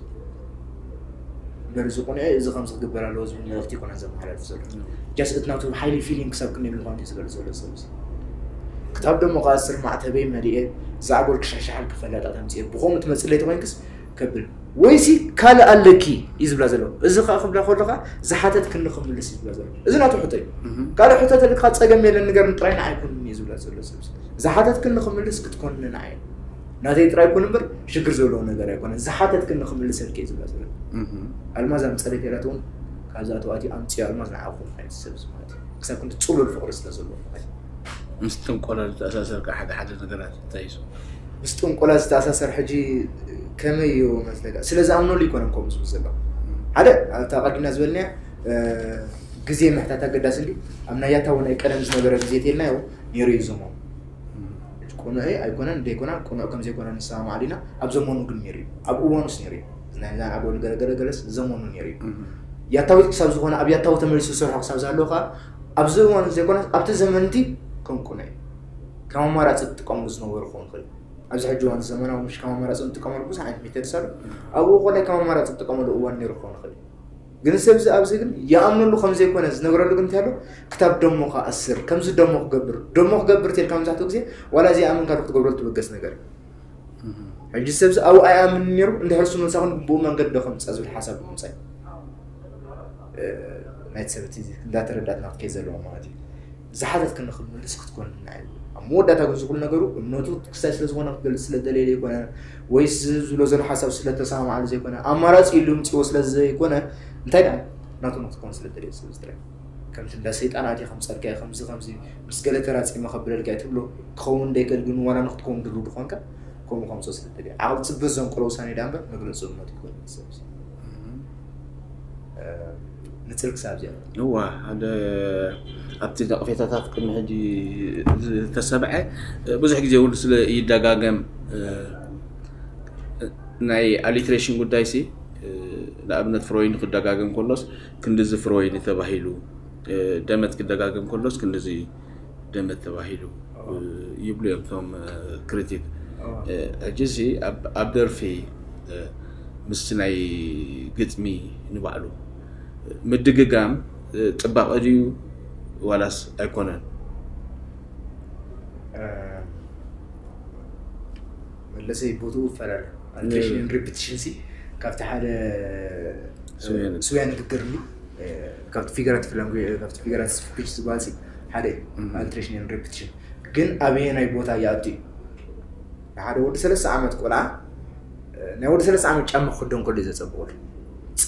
እምበር እዚ ቁኑዕ እዚ ከምዚ ክግበር ኣለዎ ዝብል መልእኽቲ ይኮነን ዘመሓላልፍ ዘሎ ጃስ እቲ ናቱ ሓይሊ ፊሊንግ ክሳብ ክንደይ ምዃኑ እዩ ዝገልፅ ዘሎ ሰብ እዚ ክታብ ደሞ ከዓ ስር ማዕተበይ መሊኤ ዛዕጎል ክሻሻሓል ክፈላጣት ኣምፅኤ ብኸምኡ ትመፅእ ለይቲ ኮይንክስ ከብል ወይሲ ካልእ ኣለኪ እዩ ዝብላ ዘሎ እዚ ከዓ ክብላ ከሎ ከዓ ዝሓተትክኒ ክምልስ እዩ ዝብላ ዘሎ እዚ ናቱ ሕቶ እዩ ካልእ ሕቶ ተልካ ፀገም የለን ንገርኒ ጥራይ ንዓይ ኩንኒ እዩ ዝብላ ዘሎ ሰብ ዝሓተትክኒ ክምልስ ክትኮንኒ ንዓይ ናተይ ጥራይ ኩን እምበር ሽግር ዘለዎ ነገር ኣይኮነን ዝሓተትክኒ ክምልሰልኪ እዩ ዝብላ ዘሎ ኣልማዝ ኣምፀለይ ተላት እውን ካብዛ ተዋእቲ ኣምፅዮ ኣልማዝ ንዓኹም ዓይነት ሰብ ዝማለት እዩ ክሳብ ክንዲ ፅሉል ፍቅሪ ስለ ዘለዎ ማለት እዩ ምስ ጥንቆላ ዝተኣሳሰር ከዓ ሓደ ሓደ ነገራት እንታይ እዩ ምስ ጥንቆላ ዝተኣሳሰር ሕጂ ከመይ እዩ መስለካ ስለ ዝኣምነሉ ይኮነን ከምኡ ዝብል ዘሎ ሓደ ኣብታ ቀዲምና ዝበልናያ ግዜ ምሕታት ኣገዳሲ እንዲ ኣብ ናይ ያታዊ ናይ ቀደም ዝነበረ ግዜ ተልናዮ ነይሩ እዩ ዘመኑ ቅኑዕ ኣይኮነን ዘይኮና ቅኑዕ ከም ዘይኮነ ንሰማማዕ ዲና ኣብ ዘመኑ ግን ነይሩ እዩ ኣብ እዋኑስ ነይሩ እዩ ናይ ዛን ኣጎል ገለገለገለስ ዘመኑ ነይሩ እዩ ያታዊት ክሳብ ዝኾነ ኣብ ያታዊ ተመሊሱ ዝሰርሖ ክሳብ ዝሃለዎ ከዓ ኣብዚ እዋን ዘይኮነ ኣብቲ ዘመንቲ ከም ቅኑዕ እዩ ከም ኣማራፂ ትጥቀምሉ ዝነበሩ ክኸውን ይኽእል ኣብዚ ሕጂ እዋን ዘመናዊ ምሽ ከም ኣማራፂ ንጥቀመሉ ብዙሕ ዓይነት ሜተድስ ኣሎ ኣብኡ ኮላይ ከም ኣማራፂ ትጥቀመሉ እዋን ነይሩ ክኸውን ይኽእል ግን ሰብዚ ኣብዚ ግን ይኣምነሉ ከም ዘይኮነ ዝነግረሉ ግን እንታይ ኣሎ? ክታብ ደሞ ክኣስር ከምዚ ደሞ ክገብር ደሞ ክገብር ትል ካብ መብዛሕትኡ ግዜ ዋላ ዘይኣመንካሉ ክትገብረሉ ትበገስ ነገር እዩ። ሕጂ ሰብዚ ኣብኡ ኣይኣምን ነይሩ እንድሕር እሱ መልሳ ኹን ብኡ መንገዲ ዶ ከምፅእ ዝብል ሓሳብ ብምፃእ ናይቲ ሰብ እቲ እንዳተረዳእትና ክትከይድ ዘለዎ ማለት እዩ። ዝሓተት ክንኽምልስ ክትኮን ናይ ኣብ መወዳእታ ግን ዝኹሉ ነገሩ እምነቱ ክሳይ ስለ ዝኾነ ክገልጽ ስለ ደለየ ዘይኮነ ወይስ ዝብሎ ዘሎ ሓሳብ ስለ ተሰማማዓሉ ዘይኮነ ኣማራጺ ኢሉ ምጽዎ ስለ ዘይኮነ እንታይ ደኣ ናቱ ንክትኮን ስለ ደለየ ሰብ ዝጥራይ ከምቲ እንዳ ሰይጣን ኣትየ ከምጸልካ ከምዚ ከምዚ ምስ ገለ ተራጺመ ከብለልካ ትብሎ ክኸውን ደይከል ግን ዋላ ንክትከውን ድሉ ድኾንካ ከምኡ ከምጾ ስለ ደለየ ዓቕሊ ጽብህ ዘንቅሎ ውሳኔ ዳ እምበር መግለጺ እምነቱ ይኮን ሰብ ንጽል ክሳብ እዚኣ እዋ ሓደ ኣብቲ ነቕፌታታት ቅድሚ ሕጂ ዝተሰብዐ ብዙሕ ግዜ እውን ስለ ይደጋገም ናይ ኣሊትሬሽን ጉዳይ ሲ ንኣብነት ፍሮይን ክደጋገም ከሎስ ክንድዚ ፍሮይን ተባሂሉ ደመት ክደጋገም ከሎስ ክንድዚ ደመት ተባሂሉ ይብሉ እዮም እቶም ክሪቲክ ሕጂ ሲ ኣብ ደርፊ ምስቲ ናይ ግጥሚ ንባዕሉ ምድግጋም ፅባቐ ድዩ ዋላስ ኣይኮነን? መለሰይ ቦትኡ ይፈላለ ኣልትሬሽን ሪፒቲሽን ሲ ካብቲ ሓደ ስውያ ንግግር እንዲ ካብቲ ፊገራቲቭ ላንጉ ካብቲ ፊገራቲቭ ስፒች ዝበሃል ሲ ሓደ ኣልትሬሽን ሪፒቲሽን ግን ኣበየ ናይ ቦታ ይኣቱ እዩ ሓደ ወዲ ሰለስተ ዓመት ቆልዓ ናይ ወዲ ሰለስተ ዓመት ጫማ ክክደን ከሎ እዩ ዘፀብቐሉ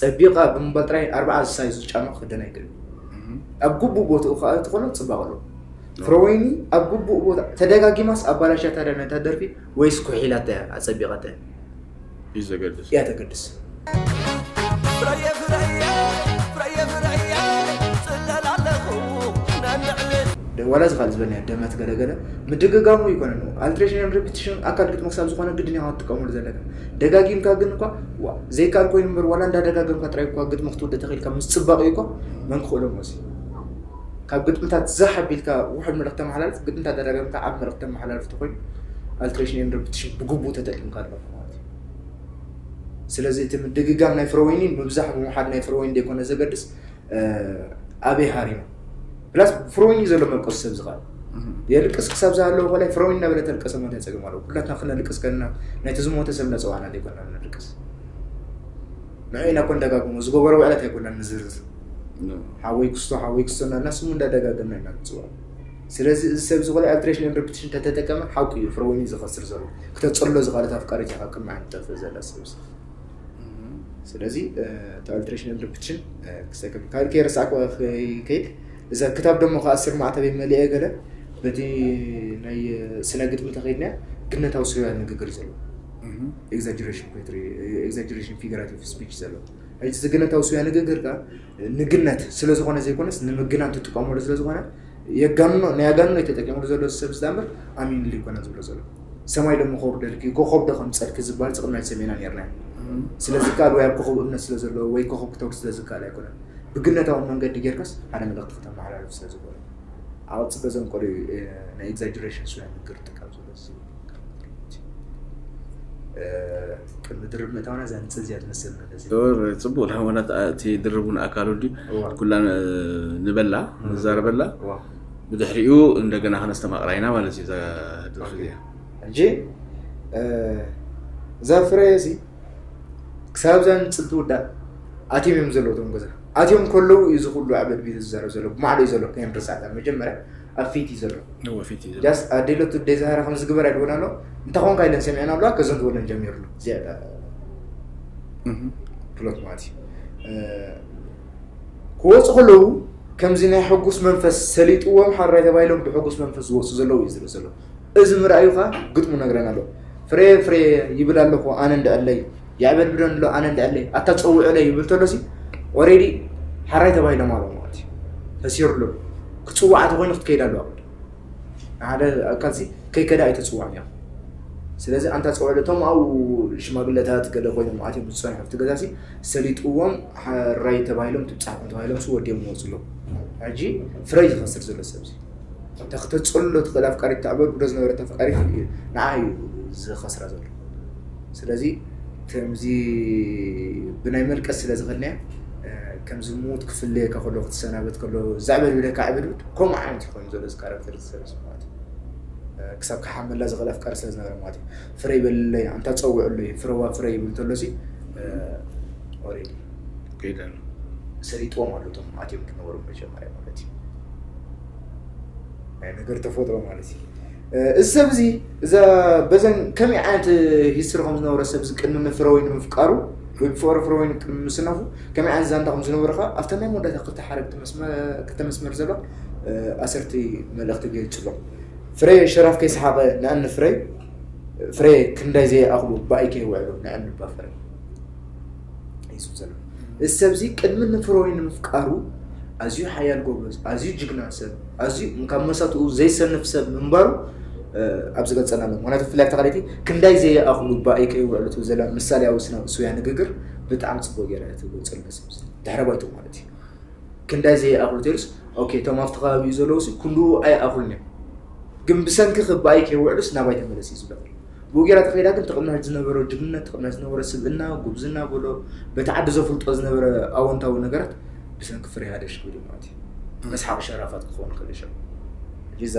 ፀቢቓ ብምባል ጥራይ ኣርባዓ ሳይዙ ጫማ ክክደን ኣይክእል ኣብ ግቡእ ቦትኡ ከዓ ትኾኖ ፅባቕ ኣለዎ ፍረወይኒ ኣብ ግቡእ ቦታ ተደጋጊማስ ኣባላሻ ታዲያ ነታ ደርፊ ወይስ ኩሒላታ እያ ኣፀቢቐታ እያ እዩ ዘገድስ እያ ተገድስ ዋላ ዝኻል ዝበልናዮ ደመት ገለገለ ምድግጋሙ ይኮነን ኣልትሬሽንን ሪፒቲሽን ኣካል ግጥሚ ክሳብ ዝኾነ ግድን ኢኻ ትጥቀመሉ ዘለካ ደጋጊምካ ግን እኳ ዘይከኣል ኮይኑ እምበር ዋላ እንዳደጋገምካ ጥራይ እኳ ግጥሚ ክትውደ ተኽኢልካ ምስ ፅባቕ እዩ እኳ መን ክኽእሎ መሲ ካብ ግጥምታት ዛሕ ኣቢልካ ውሕድ መልእኽቲ ተመሓላልፍ ግጥምታት ደጋገምካ ዓብ መልእኽቲ ተመሓላልፍ ተኮይኑ ኣልትሬሽንን ሪፒቲሽን ብግቡእ ተጠቂምካ ኣለካ ማለት እዩ ስለዚ እቲ ምድግጋም ናይ ፍረወይኒ ምብዛሕ ብምሓድ ናይ ፍረወይኒ ዘይኮነ ዘገድስ ኣበይ ሃሪሙ ፕላስ ፍሮይኒ ዘሎ መልቀሱ ሰብ ዝኽእል የልቅስ ክሳብ ዝሃለዎ ኮላይ ፍሮይኒ እናበለ ተልቀሰ ማለት ፀገም ኣለዎ ኩላትና ክነልቅስ ከለና ናይቲ ዝሞተ ሰብ እናፀዋዕና ዘይኮና ነልቅስ ንዑ ኢና ኮን ደጋግሞ ዝገበሮ ውዕለት ኣይኮና ንዝርዝር ሓወይ ክስቶ ሓወይ ክስቶ እናልና ስሙ እንዳደጋገምና ኢና ንፅውዖ ስለዚ እዚ ሰብ ዝኾነ ኣልትሬሽን ሪፒቲሽን ተተጠቀመ ሓቂ እዩ ፍሮይኒ ዝኸስር ዘሎ ክተፀሎ ዝኽኣለት ኣፍቃሪት ኢኻ ቅድሚ ዓንጠፍ ዘላ ሰብ ስለዚ እቲ ኣልትሬሽን ሪፒቲሽን ክሰከም ካልከ ረሳዕኩ ከይድ እዛ ክታብ ደሞ ከኣስር ማዕተበይ መሊአ ገለ በቲ ናይ ስነ ግጥሚ ተኸይድና ግነታዊ ስርያ ንግግር ዘሎ ኤግዛጀሬሽን ፖትሪ ኤግዛጀሬሽን ፊገራቲቭ ስፒች ዘሎ ሕጂ ዝግነታዊ ስርያ ንግግር ከ ንግነት ስለ ዝኾነ ዘይኮነስ ንምግናን ትጥቀመሉ ስለ ዝኾነ የጋንኖ ናይ ኣጋንኖ ተጠቂምሉ ዘሎ ሰብ ዝዳምር ኣሚንሉ ይኮነ ዝብሎ ዘሎ ሰማይ ዶ ምኸውርደልኪ ኮኸብ ዶ ከምፀልኪ ዝበሃል ፅቕናይ ሰሜና ነርና ስለዚ ከኣል ወይ ኣብ ኮኸብ እምነት ስለ ዘለዎ ወይ ኮኸብ ክተውር ስለ ዝከኣል ኣይኮነን ብግነታዊ መንገዲ ጌርካስ ሓደ መልእኽቲ ክተመሓላልፍ ስለ ዝኾነ ኣብ ፅበ ዘንቀሉ ናይ ኤግዛጀሬሽን ስለ ንግር ጥቃም ዘሎ ቅድሚ ድርብ ምእታውና እዛ ንፅል እዚኣ ትመስል መለስ ጽቡቅ ለመና እቲ ድርቡን ኣካሉ እንዲ ኩላ ንበላ ንዛረበላ ብድሕሪኡ እንደገና ከነስተማቕራ ኢና ማለት እዩ እዛ ድርፊ እዚኣ ሕጂ እዛ ፍረ እዚ ክሳብ እዛ ንፅል ትውዳእ ኣትዮም እዮም ዘለዉ እቶም ገዛ ኣትዮም ከለዉ እዩ ዝኩሉ ኣበድቢት ዝዛረብ ዘሎ ብማዕዶ እዩ ዘሎ ከየንርሳዕታ መጀመርያ ኣብ ፊት እዩ ዘሎ እወ ፊት እዩ ዘሎ ጃስት ኣዴለቱ ደይ ዝሃራ ከም ዝግበር ኣይድወና ኣሎ እንታይ ኮንካ ኢለን ሰሚዐን ኣለዋ ከዘን ትበለን ጀሚርሉ እዚኣ እታ እህ ፕሎት ማለት እዩ እ፣ ክወፁ ከለዉ ከምዚ ናይ ሕጉስ መንፈስ ሰሊጥዎም ሓራይ ተባሂሎም ብሕጉስ መንፈስ ዝወፁ ዘለዉ እዩ ዝርኢ ዘሎ እዚ ምርኣዩ ከዓ ግጥሙ ነግረና ኣሎ ፍሬ ፍሬ ይብል ኣለኹ ኣነ እንድዕለይ የዕበድብደን ኣሎ ኣነ እንድዕለይ ኣታ ፀውዕለይ ይብል ተሎሲ ኦሬዲ ሓራይ ተባሂሎም ኣሎ ማለት እዩ ተሲርሉ ክፅዋዕ ተኮይኑ ክትከይድ ኣለዋ ሓደ ኣካልሲ ከይከዳ ኣይተፅዋዕ እያ ስለዚ ኣንታ ፀውዕለ እቶም ኣብኡ ሽማግለታት ገለ ኮይኖም ኣትዮም ዝፀንሑ ኣብቲ ገዛሲ ሰሊጥዎም ሓራይ ተባሂሎም ትብፃሕኩም ተባሂሎም ሲ ወዲኦም ይወፁ ኣለዉ ሕጂ ፍረ ዝኸስር ዘሎ ሰብዚ ተክተፅሎ ትኽእል ኣፍቃሪት ተዕበድብዶ ዝነበረት ኣፍቃሪት ንዓ እዩ ዝኸስራ ዘሎ ስለዚ ከምዚ ብናይ መልቀስ ስለ ዝኸድናያ ከምዚ ሞት ክፍለየካ ከሎ ክትሰናበት ከሎ ዛዕበል ብለካ ዕብድብድ ከምኡ ዓይነት ይኾን ዘሎ እዚ ካራክተር ዝሰለስ ማለት እዩ። ክሳብ ክሓመላ ዝኽእል ኣፍቃሪ ስለ ዝነበረ ማለት እዩ። ፍረ ይበልለይ ኣንታ ጸውዕለይ ፍረዋ ፍረ ይብል እንተሎ ሲ ኦሬዲ ከይደን ሰሊጥዎም ኣሎ እቶም ኣትዮም ዝነበሩ መጀመርያ ማለት እዩ። ናይ ነገር ተፈጥሮ ማለት እዩ። እዚ ሰብ እዚ እዛ በዘን ከመይ ዓይነት ሂስትሪ ከም ዝነበረ ሰብ እዚ ቅድሚ ንፍረ ወይ ንምፍቃሩ ወይ ብፍቅሪ ፍረ ወይ ቅድሚ ምስናፉ ከመይ ዓይነት ዛንታ ከም ዝነበረ ከዓ ኣብታ ናይ መወዳእታ ክልተ ሓረግ ክልተ መስመር ዘሎ ኣሰርቲ መልእኽቲ ገይፅሎም። ፍረ ሸራፍ ከይሰሓቐ ንኣን ፍረ ፍረ ክንዳይ ዘይኣኽሉ ብኣይ ከይውዕሉ ንኣን ባፈረ ይስብ ዘሎ። እዚ ሰብ እዚ ቅድሚ ንፍረ ወይ ንምፍቃሩ ኣዝዩ ሓያል ጎበዝ፣ ኣዝዩ ጅግና ሰብ፣ ኣዝዩ ካብ መሳትኡ ዘይሰንፍ ሰብ ምንባሩ ኣብ ዝገልጸና ኣሎ። ምክንያቱ ብፍላይ ኣብታ ካልኣይቲ ክንዳይ ዘይኣኽሉ ብኣይ ከይውዕሉ ትብል ዘላ ምሳሌያዊ ስነ ስውያ ንግግር ብጣዕሚ ጽቡቅ ገይራ እያ ትገልጸሉ ነዚ ሰብ እዚ። ድሕረ ባይትኡ ማለት እዩ። ክንዳይ ዘይኣኽሉ ተይሉስ ኦኬ እቶም ኣብቲ ከባቢኡ ዘለዉ ሲ ክንድኡ ኣይኣኽሉን እዮም። ግን ብሰንኪ ብኣይ ከይውዕሉስ ናባይ ተመለስ እዩ ዝብለካ። ብኡ ጌራ ተኸይዳ ግን ትቕናሽ ዝነበረ ጅግንነት ትቕናሽ ዝነበረ ስብእና ጉብዝና በሎ በቲ ዓዲ ዘፍልጦ ዝነበረ ኣወንታዊ ነገራት ብሰንኪ ፍሬ ሃደሽ ክብል እዩ ማለት እዩ። መስሓቕ ሸራፋት ክኸውን ይኽእል እዩ። ሕጂ እዛ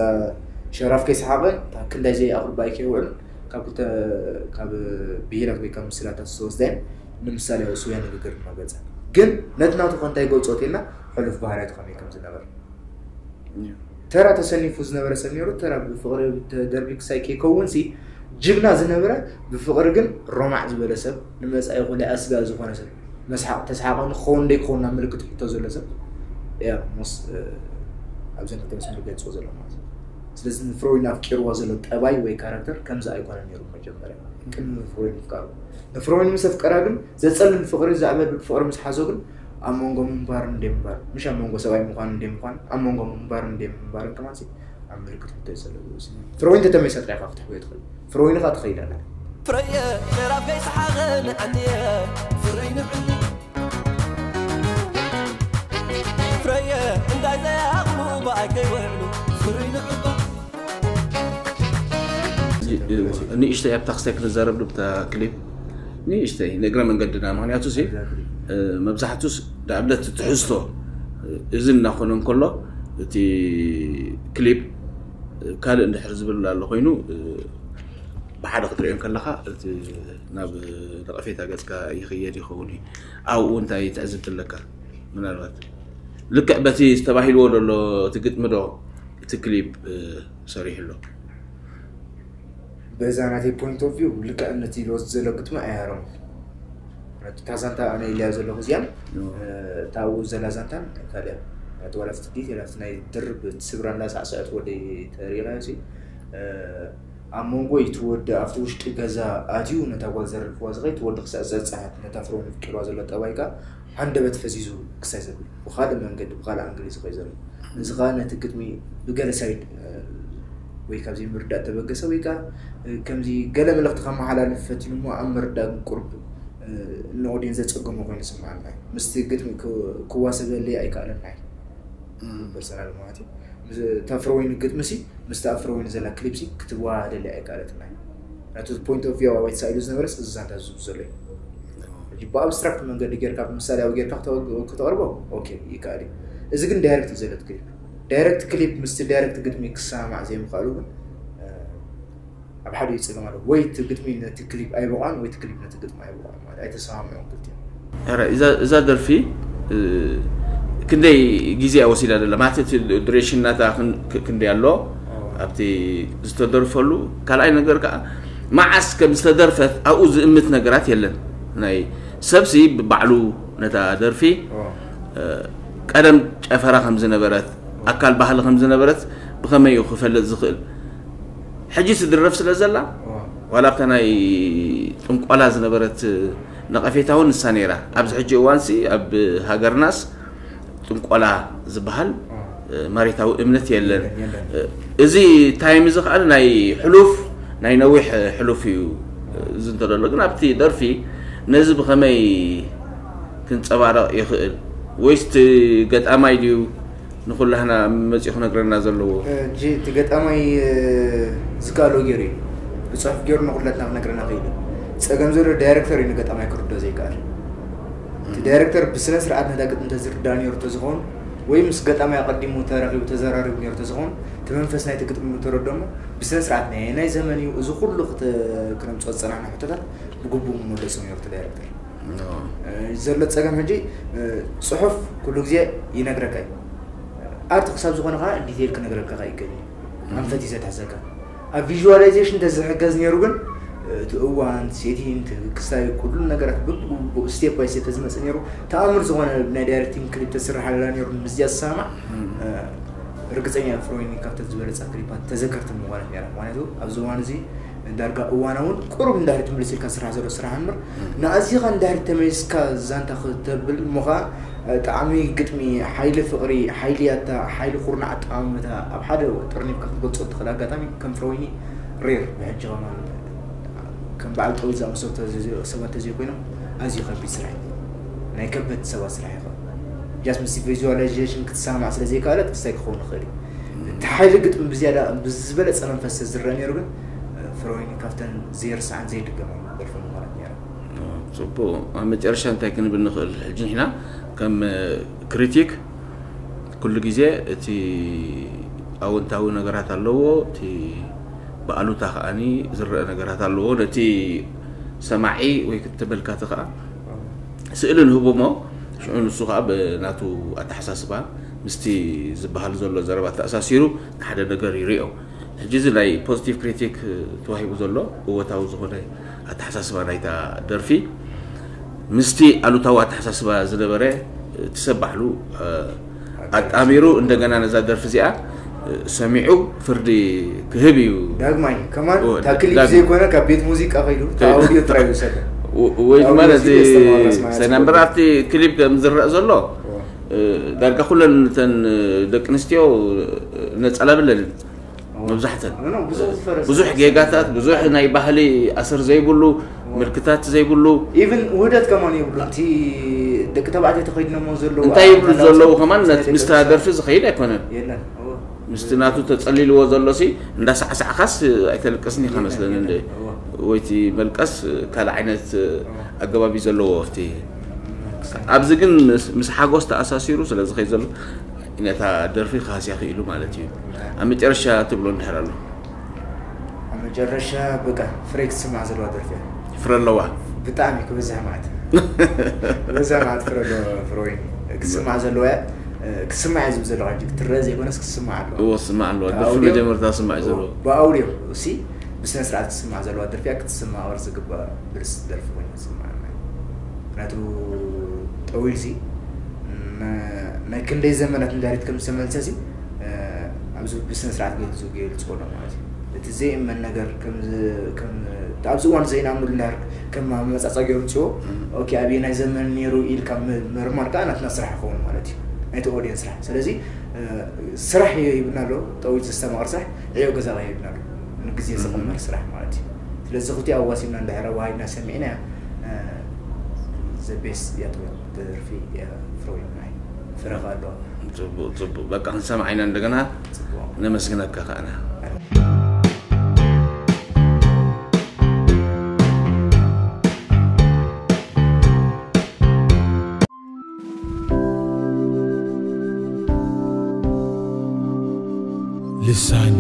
ሸራፍ ከይሰሓቐ እታ ክንዳይ ዘይኣኽሉ ብኣይ ከይውዕሉ ካብ ክልተ ካብ ብሂላት ወይ ካብ ምስላታት ዝተወስደ ንምሳሌ ስውያ ንግግር ድማ ገጸ ግን ነቲ ናቱ ከ እንታይ ገልጾ ተልና ሕሉፍ ባህርያቱ ከመይ ከም ዝነበረ ተራ ተሰኒፉ ዝነበረ ሰብ ነይሩ። ተራ ብፍቕሪ ተደርቢ ክሳይ ከይከውን ሲ ጅግና ዝነበረ ብፍቕሪ ግን ሮማዕ ዝበለ ሰብ ንመጻኢ ኩለ ኣስጋእ ዝኾነ ሰብ መስሓቕ ተስሓቐ ንክኸውን ደይክኸውን ናብ ምልክት ሕቶ ዘሎ ሰብ እያ ሞስ ኣብዘን ክልተ መስመር ገልጾ ዘሎ ማለት እዩ። ስለዚ ንፍሮይን ኣፍቂርዋ ዘሎ ጠባይ ወይ ካራክተር ከምዚ ኣይኮነ ነይሩ መጀመርያ ቅድሚ ንፍሮይን ምፍቃሩ ንፍሮይን ምስ ኣፍቀራ ግን ዘጸልል ፍቕሪ ዛዕበል ፍቕሪ ምስ ሓዞ ግን ኣብ መንጎ ምንባር እንደ ምንባር ምሽ ኣብ መንጎ ሰብኣይ ምዃን እንደ ምዃን ኣብ መንጎ ምንባር እንደ ምንባር ከማሲ ኣብ ምልክት ሕቶ ይጸለሉ ፍሮይን ተተመይሳ ጥራይ ኢኻ ክትሕወዮ ትኽእል ፍሮይን ኻ ትኸይድ ኣላ ፍረየ ሸራፍ ከይሰሓቐ ንዓንየ ፍረይ ንዕኒ ፍረየ እንታይ ዘይኣኽሉ ብኣይ ከይውዕሉ ፍረይ ንዕባ ንእሽተይ ኣብታ ክስታይ ክንዛረብ ዶ ብታ ክሊፕ ንእሽተይ ንእግረ መንገድና ምክንያቱ ሲ መብዛሕቱስ ንኣብነት ትሕዝቶ እዚ እናኾነ እንከሎ እቲ ክሊፕ ካልእ እንድሕር ዝብል ኣሎ ኮይኑ ብሓደ ክትሪኦ ከለካ እቲ ናብ ነቐፌታ ገጽካ ይኽየድ ይኸውን እዩ ኣብኡ እንታይ ትዕዝብቲ ኣለካ ምናልባት ልክዕ በቲ ዝተባሂልዎ ዘሎ እቲ ግጥሚ ዶ እቲ ክሊፕ ሰሪሑ ኣሎ በዛ ናተይ point of view ልክዕ ነቲ ሎስ ዘሎ ግጥሚ ኣያረሙ እታ ዛንታ ኣነ ኢልያ ዘለኹ እዚኣን እታ ኣብኡ ዘላ ዛንታን ካልያ እቲ ዋላ ፍትዲት ኢላ ናይ ድርብ ትስብራ እንዳሳዕስዐት ወደይ ተሪኢኻዮ ሲ ኣብ መንጎ እቲ ወዲ ኣብቲ ውሽጢ ገዛ ኣትዩ ነታ ጓል ዘርፍዋ ዝኸይድ እቲ ወዲ ክሳዕ ዘፀሓት ነታ ፍሮም ፍቂርዋ ዘሎ ጠባይ ከዓ ሃንደበት ፈዚዙ ክሳይ ዘብል ብካልእ መንገዲ ብካልእ ኣንግል እዩ ዝኸይ ዘሎ እዚ ከዓ ነቲ ግጥሚ ብገለ ሳይድ ወይ ካብዚ ምርዳእ ተበገሰ ወይ ከዓ ከምዚ ገለ መልእክቲ ከመሓላልፍ ፈቲኑ እሞ ኣብ ምርዳእ ግን ቁርብ ንኦድየንስ ዘፀገሞ ኮይኑ ስምዓና ምስቲ ግጥሚ ክዋሰበለይ ኣይከኣለና እዩ ፐርሰናል ማለት እዩ ተፍረወይኒ ግጥሚ ሲ ምስቲ ኣፍረወይኒ ዘላ ክሊፕ ሲ ክትዋሃደለይ ኣይከኣለትና እዩ ናቱ point of view ኣባይ ተሳኢሉ ዝነበረስ እዚ ዛንታ ዝዙ ዘሎ እዩ ብኣብስትራክት መንገዲ ጌርካ ብምሳሌያዊ ጌርካ ክተቕርቦ ኦኬ ይከኣል እዩ እዚ ግን ዳይሬክት እዩ ዘለት ክሊፕ ዳይሬክት ክሊፕ ምስቲ ዳይሬክት ግጥሚ ክሰማማዕ ዘይምኽኣሉ ግን ኣብ ሓደ ይፅገም ኣሎ ወይ እቲ ግጥሚ ነቲ ክሊፕ ኣይበቋን ወይ እቲ ክሊፕ ነቲ ግጥሚ ኣይበቋን ማለት ኣይተሰማምዑን ክልቲኦም ኧረ እዛ እዛ ደርፊ እ፣ ክንደይ ግዜ እያ ወሲዳ ዘላ ማለት እቲ ዱሬሽን ናታ ክን- ክ- ክንደይ ኣሎ ኣብቲ ዝተደርፈሉ ካልኣይ ነገር ከዓ መዓስ ከም ዝተደርፈት ኣብኡ ዝእምት ነገራት የለን ናይ ሰብሲ ብባዕሉ ነታ ደርፊ እ፣ ቀደም ጨፈራ ከም ዝነበረት ኣካል ባህሊ ከም ዝነበረት ብኸመይ እዩ ክፈልጥ ዝኽእል ሕጂ ትድረፍ ስለ ዘላ ዋላ ኣብታ ናይ ጥንቆላ ዝነበረት ነቐፌታ እውን ንሳ ነይራ ኣብዚ ሕጂ እዋንሲ ኣብ ሃገርናስ ጥንቆላ ዝበሃል መሬታዊ እምነት የለን እዚ ታይም እዚ ከዓ ናይ ሕሉፍ ናይ ነዊሕ ሕሉፍ እዩ እዚ እንተደሎ ግን ኣብቲ ደርፊ ነዚ ብኸመይ ክንፀባረቕ ይኽእል ወይስ እቲ ገጣማይ ድዩ ንኩላህና መፂኡ ክነግረና ዘለዎ ሕጂ እቲ ገጣማይ ዝከኣሎ ገይሩ እዩ ብፅሑፍ ገይሩ ንኩላትና ክነግረና ክኢሉ ፀገም ዘሎ ዳይረክተር እዩ ንገጣማይ ክርዶ ዘይከኣል እቲ ዳይረክተር ብስነ ስርዓት ነታ ግጥሚ ተዝርዳ ነይሩ ተዝኸውን፣ ወይ ምስ ገጣማይ ኣቐዲሙ ተራኺቡ ተዘራሪቡ ነይሩ ተዝኸውን፣ እቲ መንፈስ ናይቲ ግጥሚ ተረዶሞ ብስነ ስርዓት ናይ ናይ ዘመን እዩ፣ እዚ ኩሉ ክተ- ክነምፅኦ ዝፀናሕና ሕቶታት ብግቡእ ምመለሶ ነይሩ እቲ ዳይረክተር። ዘሎ ፀገም ሕጂ፣ ፅሑፍ ኩሉ ግዜ ይነግረካ እዩ። ኣርት ክሳብ ዝኾነ ከዓ ዲቴይል ክነግረካ ከዓ ይገኝ፣ ኣንፈት እዩ ዘትሕዘካ። ኣብ ቪዥዋላይዜሽን ተዝሕገዝ ነይሩ ግን፣ እቲ እዋን ሴቲንግ ክስታይ ኩሉ ነገራት ብብኡ ስቴፕ ባይ ስቴፕ ተዝመፅእ ነይሩ፣ ተኣምር ዝኾነ ናይ ዳይሬክቲንግ ክሊፕ ተስርሓላ ነይሩ። ምስዚኣ ዝሰማማዕ ርግፀኛ ፍሮይኒ ካብተን ዝበለፃ ክሊፓት ተዘከርቲ ምኾነት ነይራ። ምክንያቱ ኣብዚ እዋን እዚ ዳርጋ እዋናውን ቁሩብ እንዳሪ ትምልስ ኢልካ ስራሕ ዘሎ ስራሕ እምበር፣ ንኣዚኻ እንዳሪ ተመሊስካ ዛንታ ክተብል እሞ ኸዓ፣ ጠዓሚ ግጥሚ፣ ሓይሊ ፍቕሪ፣ ሓይሊ ያታ፣ ሓይሊ ኩርናዕ ኣጠማምታ ኣብ ሓደ ጥርኒፍካ ክትገልጾ እትኽእል ኣጋጣሚ ከም ፍሮይኒ ሬር ብሕጂ ከማን ከም በዓል ጠዊት ዝኣመሰሉ ተዘ- ሰባት ተዘይኮይኖም ኣዝዩ ከቢድ ስራሕ እዩ። ናይ ከበድቲ ሰባት ስራሕ እዩ። ጃስት ምስ ቪዥዋላይዜሽን ክትሰማማዕ ስለ ዘይከኣለት ክስታይ ክኸውን ይኽእል እዩ። እቲ ሓይሊ ግጥሚ ብዝያዳ ብዝበለፀ መንፈስ ዝረአ ነይሩ ግን፣ ፍሮይኒ ካብተን ዘይርሳዕን ዘይድገማን ደርፊ ምዃነት ነይራ። ፅቡቅ። ኣብ መጨረሻ እንታይ ክንብል ንኽእል? ሕጂ ንሕና ከም ክሪቲክ ኩሉ ግዜ እቲ ኣወንታዊ ነገራት ኣለዎ፣ እቲ ብኣሉታ ከዓኒ ዝረአ ነገራት ኣለዎ። ነቲ ሰማዒ ወይ ተመልካቲ ከዓ ስእሊ ንህቦ እሞ ሽዑ ንሱ ከዓ ብናቱ ኣተሓሳስባ ምስቲ ዝበሃል ዘሎ ዘረባ ተኣሳሲሩ ንሓደ ነገር ይሪኦ። ሕጂ እዚ ናይ ፖዚቲቭ ክሪቲክ ተዋሂቡ ዘሎ እወታዊ ዝኾነ ኣተሓሳስባ ናይታ ደርፊ ምስቲ ኣሉታዊ ኣተሓሳስባ ዝነበረ እቲ ሰብ ባዕሉ ኣጣሚሩ እንደገና ነዛ ደርፊ እዚኣ ሰሚዑ ፍርዲ ክህብ እዩ። ዳግማይ ከማን እወ፣ እታ ክሊፕ ዳግማይ። ዘይኮነ ካብ ቤት ሙዚቃ ከይዱ ካብ ኣውዲዮ ጥራይ ይውሰድ። ወይ ድማ ነዚ ሰናምበር ኣብቲ ክሊፕ ከም ዝረአ ዘሎ ዳርጋ ኩለን እተን ደቂ ኣንስትዮ ነፀላ ብለልን መብዛሕተን ብዙሕ ጌጋታት ብዙሕ ናይ ባህሊ ኣሰር ዘይብሉ ምልክታት ዘይብሉ ኢቭን ውህደት ከማን የብሉ እቲ ደቂ ተባዕትዮ ተኸይድነሞ ዘለዉ እንታይ ይብሉ ዘለዉ ከማን ምስታ ደርፊ ዝኸይድ ኣይኮነን። ምስቲ ናቱ ተፀሊልዎ ዘሎ ሲ እንዳሳዕሳዕካስ ኣይተልቅስን ኢኻ መስለኒ እንደ ወይቲ መልቀስ ካልእ ዓይነት ኣገባብ እዩ ዘለዎ ኣብቲ ኣብዚ ግን ምስ ሓጎስ ተኣሳሲሩ ስለ ዝኸይ ዘሎ ነታ ደርፊ ክሃስያ ክኢሉ ማለት እዩ። ኣብ መጨረሻ ትብሎ እንድሕር ኣሎ ኣብ መጨረሻ በቃ ፍረ ክትስማዕ ዘለዋ ደርፊ እያ። ፍረ ኣለዋ። ብጣዕሚ ክበዝሕ ማለት ክበዝሕ ማለት ፍረ ኣለዋ። ፍረ ወይኒ ክትስማዕ ዘለዋ እያ። ክስማዕ እየ ዝብል ዘለኹ ሕጂ ክትረአ ዘይኮነስ ክስማዕ ኣለዋ። እዎ ክስማዕ ኣለዋ። ካብ ደርፊ ኣውድዮ- መጀመርታ ክስማዕ እዩ እዎ፣ ዘለዎ። ብኣውድዮ እሲ ብስነ ስርዓት ክትስማዕ ዘለዋ ደርፊ እያ። ክትስማዕ ቅርፂ ዝግባእ ብልስ ደርፊ ኮይኑ ክስማዕ ኣለዋ። ምክንያቱ ጠዊል ሲ ን- ናይ ክንደይ ዘመናት ንዳሪት ከም ዝተመልሰ ሲ ኣብዚ ብስነ ስርዓት ገይሩ ዝገልፅዎ ኣሎ ማለት እዩ። እቲ ዘይእመን ነገር ከም ዝ- ከም ኣብዚ እዋን ዘይንኣምነሉ እንዳር ከም መመፃፃ ገይሩ ምፅዎ ኦኬ ኣብየ ናይ ዘመን ነይሩ ኢልካ ም- ምርማር ከዓ ናትና ስራሕ ይኸውን ማለት እዩ። ናይቲ ኦዲየንስ ስራሕ ስለዚ ስራሕ ይብና ኣሎ ጠዊት ዘስተማቕር ስራሕ ዕዮ ገዛ ይብና ኣሎ ንግዜ ዝቕመር ስራሕ ማለት እዩ። ስለዚ ክልቲኡ ኣዋሲብና እንድሕር ኣዋሃድና ሰሚዕና ዘቤስ ያጥወት ደርፊ ፍሮይናይ ፍረኻ ኣሎ ፅቡቅ ፅቡቅ በቃ ክንሰማዕ ኢና እንደገና ነመስግነካ ከዓና ልሳን